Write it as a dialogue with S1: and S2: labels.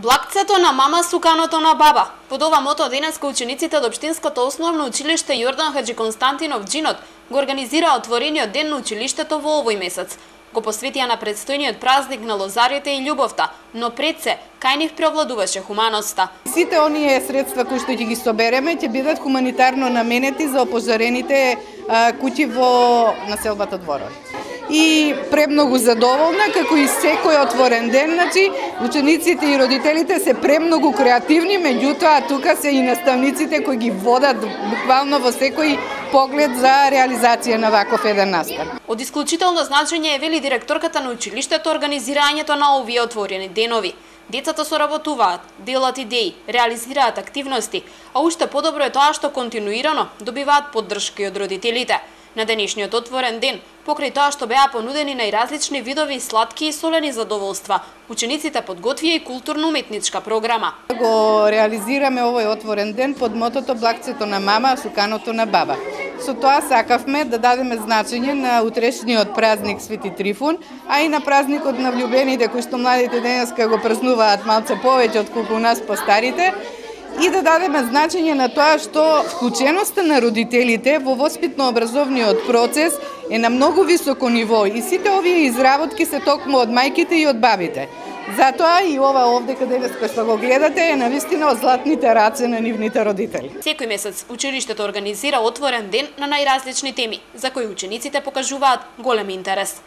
S1: Блакцето на мама, суканото на баба. Под ова мото денеска учениците од Општинското основно училиште Јордан Хаџи Константинов Џинот го организираа отворениот ден на училиштето во овој месец. Го посветија на предстојниот празник на лозарите и љубовта, но пред се, кај нив преовладуваше хуманоста.
S2: Сите оние средства кои што ќе ги собереме ќе бидат хуманитарно наменети за опожарените куќи во населбата Дворови. И премногу задоволна, како и секој отворен ден, значи учениците и родителите се премногу креативни, меѓутоа тука се и наставниците кои ги водат буквално во секој поглед за реализација на ваков еден настан.
S1: Од исклучително значење е, вели директорката на училиштето, организирањето на овие отворени денови. Децата соработуваат, делат идеи, реализираат активности, а уште подобро е тоа што континуирано добиваат поддршка од родителите. На денешниот отворен ден, покрај тоа што беа понудени најразлични видови сладки и солени задоволства, учениците подготвија и културно-уметничка програма.
S2: Го реализираме овој отворен ден под мотото Блакцето на мама, суканото на баба. Со тоа сакавме да дадеме значење на утрешниот празник Свети Трифун, а и на празникот на влюбените, кои што младите денеска го празнуваат малце повеќе отколку нас постарите, и да дадеме значење на тоа што вклученоста на родителите во воспитно-образовниот процес е на многу високо ниво и сите овие изработки се токму од мајките и од бабите. Затоа и ова овде каде што го гледате е навистина од златните раце на нивните родители.
S1: Секој месец училиштето организира отворен ден на најразлични теми, за кои учениците покажуваат голем интерес.